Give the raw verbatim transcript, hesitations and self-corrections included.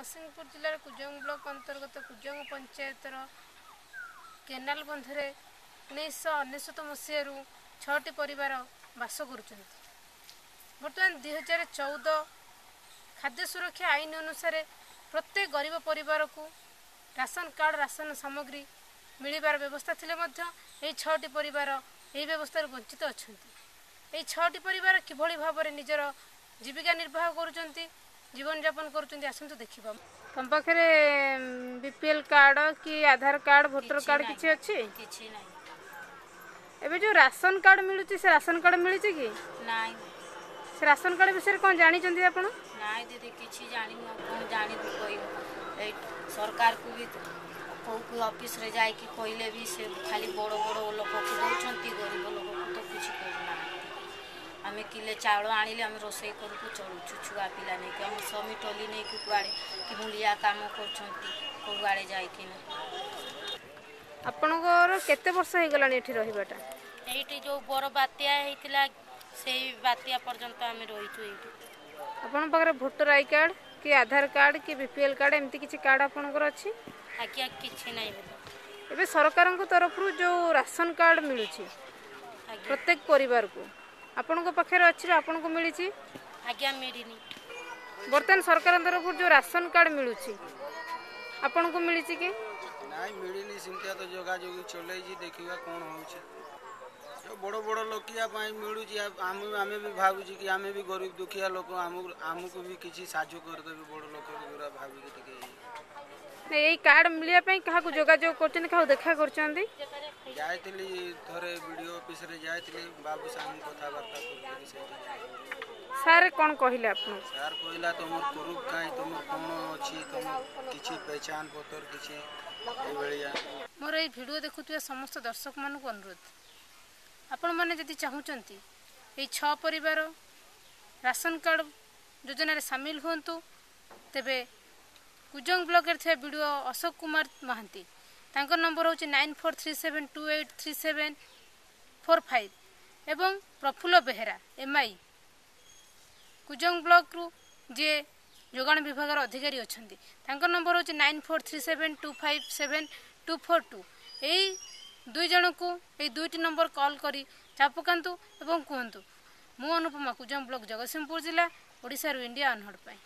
ଜଗତସିଂହପୁର ଜିଲ୍ଲାର କୁଜଙ୍ଗ ବ୍ଲକ ଅନ୍ତର୍ଗତ କୁଜଙ୍ଗ ପଞ୍ଚାୟତର କେନାଲ ବନ୍ଧରେ ଉଣେଇଶହ ଅନେଶତ ମସିହାରୁ ଛଅଟି ପରିବାର ବାସ କରୁଛନ୍ତି। ବର୍ତ୍ତମାନ ଦୁଇ ହଜାର ଚଉଦ ଖାଦ୍ୟ ସୁରକ୍ଷା ଆଇନ ଅନୁସାରେ ପ୍ରତ୍ୟେକ ଗରିବ ପରିବାରକୁ ରାସନ କାର୍ଡ଼, ରାସନ ସାମଗ୍ରୀ ମିଳିବାର ବ୍ୟବସ୍ଥା ଥିଲେ ମଧ୍ୟ ଏହି ଛଅଟି ପରିବାର ଏହି ବ୍ୟବସ୍ଥାରୁ ବଞ୍ଚିତ ଅଛନ୍ତି। ଏହି ଛଅଟି ପରିବାର କିଭଳି ଭାବରେ ନିଜର ଜୀବିକା ନିର୍ବାହ କରୁଛନ୍ତି, ଜୀବନଯାପନ କରୁଛନ୍ତି, ଆସନ୍ତୁ ଦେଖିବା। ତମ ପାଖରେ ବି ପି ଏଲ୍ କାର୍ଡ଼ କି ଆଧାର କାର୍ଡ଼, ଭୋଟର କାର୍ଡ଼ କିଛି ଅଛି? କିଛି ନାହିଁ। ଏବେ ଯେଉଁ ରାସନ କାର୍ଡ଼ ମିଳୁଛି, ସେ ରାସନ କାର୍ଡ଼ ମିଳିଛି କି ନାଇଁ? ସେ ରାସନ କାର୍ଡ଼ ବିଷୟରେ କ'ଣ ଜାଣିଛନ୍ତି ଆପଣ? ନାଇଁ ଦିଦି, କିଛି ଜାଣିନୁ। ଆଉ କ'ଣ ଜାଣିବୁ କହିବୁ? ଏଇ ସରକାରକୁ ବି କେଉଁ କେଉଁ ଅଫିସରେ ଯାଇକି କହିଲେ ବି ସେ ଖାଲି ବଡ଼ ବଡ଼ ଲୋକକୁ ଦେଉଛନ୍ତି, ଗରିବ ଲୋକକୁ ତ କିଛି କରୁନାହାନ୍ତି। ଆମେ କିଲେ ଚାଉଳ ଆଣିଲେ ଆମେ ରୋଷେଇ କରିକି ଚଳୁଛୁ ଛୁଆ ପିଲା ନେଇକି। ଆମ ସ୍ୱାମୀ ଟଲି ନେଇକି କୁଆଡ଼େ କି ମୂଲିଆ କାମ କରୁଛନ୍ତି କେଉଁଆଡ଼େ ଯାଇକିନା। ଆପଣଙ୍କର କେତେ ବର୍ଷ ହେଇଗଲାଣି ଏଠି ରହିବାଟା? ଏଇଠି ଯେଉଁ ବଡ଼ ବାତ୍ୟା ହେଇଥିଲା, ସେଇ ବାତ୍ୟା ପର୍ଯ୍ୟନ୍ତ ଆମେ ରହିଛୁ ଏଇଠି। ଆପଣଙ୍କ ପାଖରେ ଭୋଟର I card କି ଆଧାର କାର୍ଡ଼ କି ବି ପି ଏଲ୍ କାର୍ଡ଼, ଏମିତି କିଛି କାର୍ଡ଼ ଆପଣଙ୍କର ଅଛି? ଆଜ୍ଞା, କିଛି ନାହିଁ। ଏବେ ସରକାରଙ୍କ ତରଫରୁ ଯେଉଁ ରାସନ କାର୍ଡ଼ ମିଳୁଛି ପ୍ରତ୍ୟେକ ପରିବାରକୁ, ଆପଣଙ୍କ ପାଖରେ ଅଛି ବା ଆପଣଙ୍କୁ ମିଳିଛି? ଆଜ୍ଞା, ମିଳିନି। ବର୍ତ୍ତମାନ ସରକାରଙ୍କ ତରଫରୁ ଯେଉଁ ରାସନ କାର୍ଡ଼ ମିଳୁଛି, ଆପଣଙ୍କୁ ମିଳିଛି କି? ନାଇଁ, ମିଳିନି। ସେମିତିଆ ତ ଯୋଗାଯୋଗ ଚଲେଇଛି, ଦେଖିବା କ'ଣ ହେଉଛି। ଯେଉଁ ବଡ଼ ବଡ଼ ଲୋକିଆ ପାଇଁ ମିଳୁଛି, ଆମେ ଆମେ ବି ଭାବୁଛୁ କି ଆମେ ବି ଗରିବ ଦୁଃଖିଆ ଲୋକ, ଆମକୁ ଆମକୁ ବି କିଛି ସାହାଯ୍ୟ କରିଦେବେ ବଡ଼ ଲୋକ ଗୁରା ଭାବିକି ଟିକେ। ଏଇ କାର୍ଡ଼ ମିଳିବା ପାଇଁ କାହାକୁ ଯୋଗାଯୋଗ କରୁଛନ୍ତି, କାହାକୁ ଦେଖା କରୁଛନ୍ତି? ଯାଇଥିଲି ଥରେ ବିଡ଼ିଓ ଅଫିସରେ ଯାଇଥିଲି, ବାବୁ ସାଙ୍ଗେ କଥାବାର୍ତ୍ତା କରୁଥିଲି ସେଇଠି। ସାର୍ କ'ଣ କହିଲେ ଆପଣଙ୍କୁ? ସାର୍ କହିଲା ତମର ପ୍ରୁଫ୍ କାହିଁ, ତମର କ'ଣ ଅଛି, ତମର କିଛି ପହଚାନ ପତ୍ର କିଛି, ଏଇଭଳିଆ। ମୋର ଏଇ ଭିଡ଼ିଓ ଦେଖୁଥିବା ସମସ୍ତ ଦର୍ଶକମାନଙ୍କୁ ଅନୁରୋଧ, ଆପଣମାନେ ଯଦି ଚାହୁଁଛନ୍ତି ଏଇ ଛଅ ପରିବାର ରାସନ କାର୍ଡ଼ ଯୋଜନାରେ ସାମିଲ ହୁଅନ୍ତୁ, ତେବେ କୁଜଙ୍ଗ ବ୍ଲକରେ ଥିବା ବିଡ଼ିଓ ଅଶୋକ କୁମାର ମହାନ୍ତି, ତାଙ୍କ ନମ୍ବର ହେଉଛି nine four three seven two eight three seven four five, ଏବଂ Prafulla Behera M I, Kujang ବ୍ଲକରୁ ଯିଏ ଯୋଗାଣ ବିଭାଗର ଅଧିକାରୀ ଅଛନ୍ତି, ତାଙ୍କ ନମ୍ବର ହେଉଛି nine four three seven two five seven two four two. ଏଇ ଦୁଇ ଜଣଙ୍କୁ ଏଇ ଦୁଇଟି ନମ୍ବର କଲ୍ କରି ଚାପ ପକାନ୍ତୁ ଏବଂ କୁହନ୍ତୁ। ମୁଁ ଅନୁପମା, କୁଜଙ୍ଗ ବ୍ଲକ, ଜଗତସିଂହପୁର ଜିଲ୍ଲା, ଓଡ଼ିଶାରୁ ଇଣ୍ଡିଆ ଅନହଡ଼ ପାଇଁ।